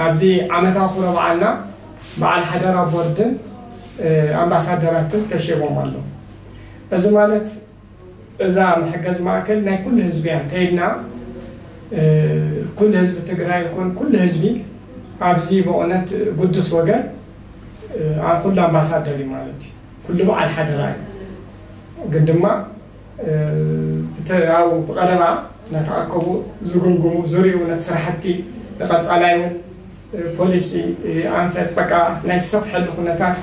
ኣብዚ ዓመታዊ ክብረ በዓልና በዓል ሓደራ ቦርድን ኣምባሳደራትን ተሸይሞም ኣለዉ። እዚ ማለት እዛ መሐገዚ ማእከል ናይ ኩሉ ህዝቢ እያ እንተኢልና ኩሉ ህዝቢ ትግራይ ይኹን ኩሉ ህዝቢ ኣብዚ ብእውነት ግዱስ ወገን ኩሉ ኣምባሳደር እዩ ማለት እዩ። ኩሉ በዓል ሓደራ እዩ። ግን ድማ ኣብኡ ብቐረባ እናተኣከቡ ዝግምግሙ ዝሪኡ ነቲ ስራሕቲ ንቐፃላይ እውን ፖሊሲ ኣንፈት በቃ ናይ ዝሰፍሐሉ ኩነታት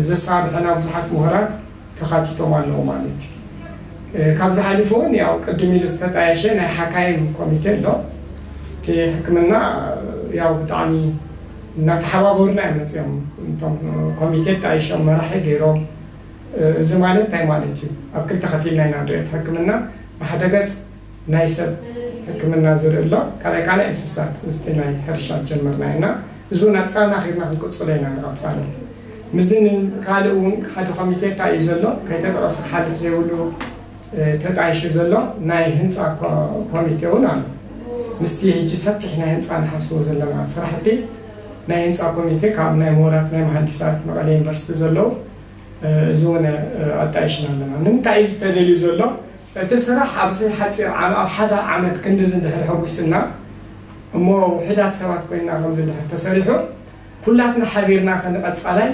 ዘሳርሑና ብዙሓት ምሁራት ተኻቲቶም ኣለዉ ማለት እዩ። ካብዚ ሓሊፉ እውን ያው ቅድም ኢሉ ዝተጣየሸ ናይ ሓካይም ኮሚቴ ኣሎ። እቲ ሕክምና ያው ብጣዕሚ እናተሓባበሩና እዮም መፅኦም። እቶም ኮሚቴ ጣይሾም መራሒ ገይሮም። እዚ ማለት እንታይ ማለት እዩ? ኣብ ክልተ ከፊልና ኢና ንሪኦ። እቲ ሕክምና ብሓደ ገፅ ናይ ሰብ ሕክምና ዝርኢ ኣሎ፣ ካልኣይ ካልኣይ እንስሳት ምስቲ ናይ ሕርሻ ጀመርና ኢና። እዚ እውን ኣጠናኺርና ክንቅፅሎ ኢና ንቐፃሊ። ምስዚ ካልእ እውን ሓደ ኮሚቴ እንታይ እዩ ዘሎ ከይተጠቐሰ ክሓልፍ ዘይብሉ ተጣይሹ ዘሎ ናይ ህንፃ ኮሚቴ እውን ኣሎ። ምስቲ ሕጂ ሰፊሕ ናይ ህንፃ ንሓስቦ ዘለና ስራሕቲ ናይ ህንፃ ኮሚቴ ካብ ናይ ምሁራት ናይ መሃንዲሳት መቐለ ዩኒቨርሲቲ ዘለዉ እዚ እውን ኣጣይሽና ኣለና። ንምንታይ እዩ ዝተደልዩ ዘሎ? እቲ ስራሕ ኣብዚ ሓፂር ዓመት ኣብ ሓደ ዓመት ክንድዚ እንድሕር ሕጉስና እሞ ውሕዳት ሰባት ኮይንና ከምዚ እንድሕር ተሰሪሑ ኩላትና ሓቢርና ከንቐፃላይ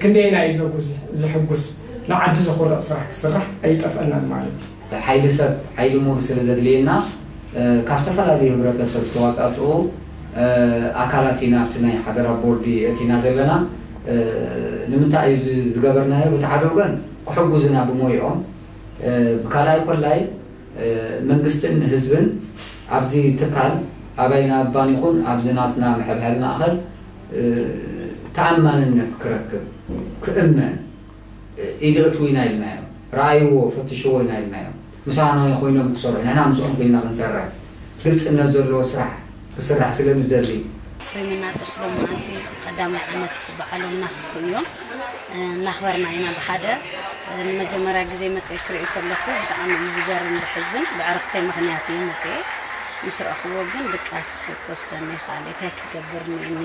ክንደየና እዩ ዘጉዝ ዝሕጉስ ንዓዲ ዘኾርዕ ስራሕ ክስራሕ ኣይጠፍአናን ማለት እዩ። ሓይሊ ሰብ ሓይሊ ምሁር ስለ ዘድልየና ካብ ዝተፈላለዩ ህብረተሰብ ዝተዋፃፅኡ ኣካላት ኢና ኣብቲ ናይ ሓደራ ቦርዲ እቲና ዘለና። ንምንታይ እዩ ዝገበርናዮ? ብቲ ሓደ ወገን ክሕጉዝና ብሞይኦም ብካልኣይ ኮላይ መንግስትን ህዝብን ኣብዚ ትካል ኣባይና እባን ይኹን ኣብዚ ናትና መሐብሐቢ ማእኸል ተኣማንነት ክረክብ ክእመን ኢድ እትዉ ኢና ኢልናዮም። ረኣይዎ ፈትሽዎ ኢና ኢልናዮም። ምሳና ኮይኖም ክሰርሑ ንሕና ምስኦም ኮይንና ክንሰርሕ ግልፅነት ዘለዎ ስራሕ ክስራሕ ስለ ንደሊ። ፍሬምና ቁርሲ ሎማዓንቲ ቀዳማይ ዓመት በዓሎም እናኽብሩ እዮም። እናኽበርና ኢና ብሓደ። ንመጀመርያ ግዜ መፅኤ ክርእዩ ተለኹ ብጣዕሚ እዩ ዝገርም ዘሕዝን። ብዕርኽተይ ምኽንያት እየ መፅኤ። ምስ ረእኽዎ ግን ድቃስ ክወስደኒ ይኽኣል እንታይ ክገብር እኒኤኒ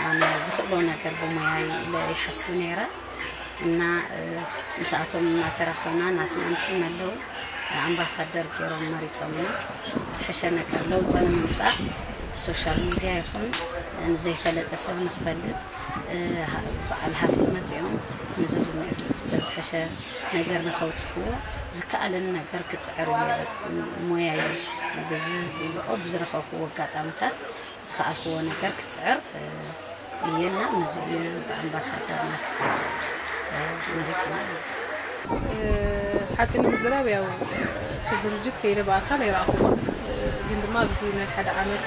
ኣነ ዝኽእሎ ነገር ብሞያይ ኢለ ይሓስብ ነይረ። እና ምስኣቶም እናተራኸብና ናትና ምትም ኣለዉ ኣምባሳደር ገይሮም መሪፆምና ዝሕሸ ነገር ለውጢ ንምምፃእ ብሶሻል ሚድያ ይኹን ንዘይፈለጠ ሰብ ንክፈልጥ በዓል ሃፍቲ መፂኦም ንዚ ዝኒኦ ድርጅተን ዝሕሸ ነገር ንከውፅእዎ ዝከኣለኒ ነገር ክፅዕር እየ ሞያ እዩ። ብዝጥልኦ ብዝረኸብክዎ ኣጋጣምታት ዝኸኣልክዎ ነገር ክፅዕር እየና ምስዚ እዩ ብኣምባሳደርነት ተመሪፅና ማለት እዩ። ሓቂ ንምዝራብ ያው እቲ ድርጅት ከይደ ብኣካል ኣይረኣኹዎን ግን ድማ ኣብዚ ናይ ሓደ ዓመት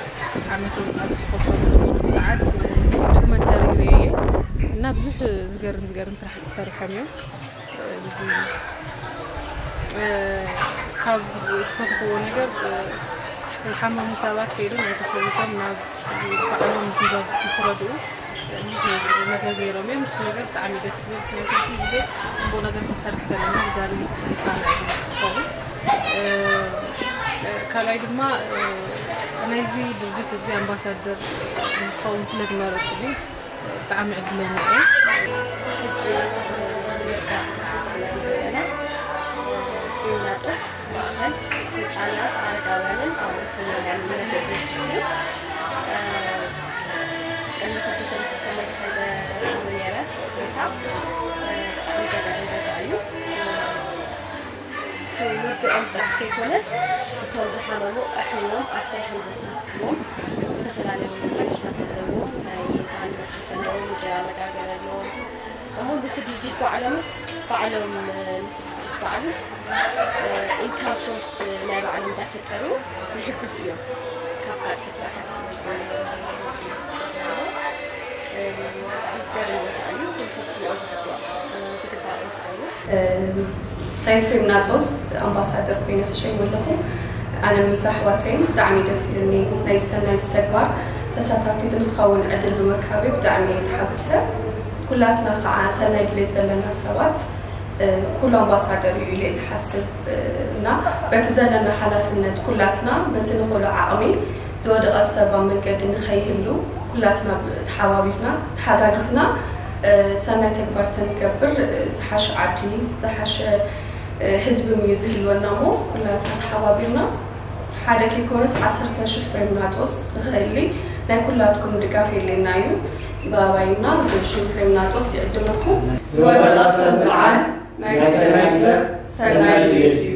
ዓመት እውን ኣብ ዝኸፈሉ ሰዓት ዶክመንተሪ ርእየ እና ብዙሕ ዝገርም ዝገርም ስራሕቲ ሰሪሖም እዮም። ካብ ዝፈትኽዎ ነገር ዝሓመሙ ሰባት ከይዶም ኣይተፈዊሶም ናብ ባዕሎም ንክረድኡ ብዙሕ ነገር ገይሮም እዮም። ንሱ ነገር ብጣዕሚ ደስ ዝብል ምክንያቱ ኩሉ ግዜ ፅቡቅ ነገር ክንሰርሕ ዘለና እግዚኣብሔር ምሳና እዩ ዝኸውን። ካልኣይ ድማ ናይዚ ድርጅት እዚ ኣምባሳደር ንክኸውን ስለዝመረፅሉ ብጣዕሚ ዕድለኛ እየ። ሕጂ ንርዳእ ዝብለሉ ዘለና ፍሪምናጦስ ማእኸል ህፃናት ኣረጋውያንን ኣባል ሕሙማንን መገዛእቲ እዩ። ቅድሚ ክልተ ሰለስተ ሰሙን ከይደ ነይረ ቦታ ብጣዕሚ ገዳሚ ቦታ እዩ። እቲ ውግኦም ጥራሕ ከይኮነስ እቶም ዝሓመሙ ኣሕሪሞም ኣብ ስራሕ ንዘሳትፍዎም ዝተፈላለዩ መጋረጅታት ኣለዎም፣ ናይ በዓል መስርሒ ኣለዎም፣ እንጀራ መጋገሪ ኣለዎም። እሞ ነቲ ድርጅት ባዕሎምስ ባዕሎም ነቲ ድርጅት ባዕሉስ ኢንካም ሶርስ ናይ ባዕሎም እንዳፈጠሩ ይሕግዙ እዮም። ካብ ካልእ ሰብ ጥራሕ ኣይኮነን ዝሰርሑ ዘለዉ። ብጣዕሚ ዝገርም ቦታ እዩ። ኩሉ ሰብ ክሪኦ ዝግባእ ዝግባእ ቦታ እዩ። ናይ ፍሬምናጦስ ኣምባሳደር ኮይነ ተሸይመ ኣለኹ። ኣነ ምስ ኣሕዋተይን ብጣዕሚ ደስ ኢሉኒ። ናይ ሰናይ ተግባር ተሳታፊት ንክኸውን ዕድል ብምርካበይ ብጣዕሚ እየ ተሓጒሰ። ኩላትና ከዓ ሰናይ ድሌት ዘለና ሰባት ኩሉ ኣምባሳደር እዩ ኢለ እየ ዝሓስብ እና በቲ ዘለና ሓላፍነት ኩላትና በቲ ንኽእሎ ዓቕሚ ዝወደቐ ሰብ ኣብ መንገዲ ንኸይህሉ ኩላትና ተሓባቢዝና ተሓጋጊዝና ሰናይ ተግባር ተንገብር ዝሓሸ ዓዲ ዝሓሸ ህዝቢ እዩ ዝህልወና እሞ ኩላትና ተሓባቢርና ሓደ ከይኮነስ ዓሰርተ ሽሕ ፍሬምናጦስ ንኽህሊ ናይ ኩላትኩም ድጋፍ የድልየና እዩ። ብኣባይና ብሽም ፍሬምናጦስ ይዕድመኩም። ዝወደቐ ሰብ ምርዓን ናይ ሰናይ ሰብ ሰናይ ድሌት እዩ።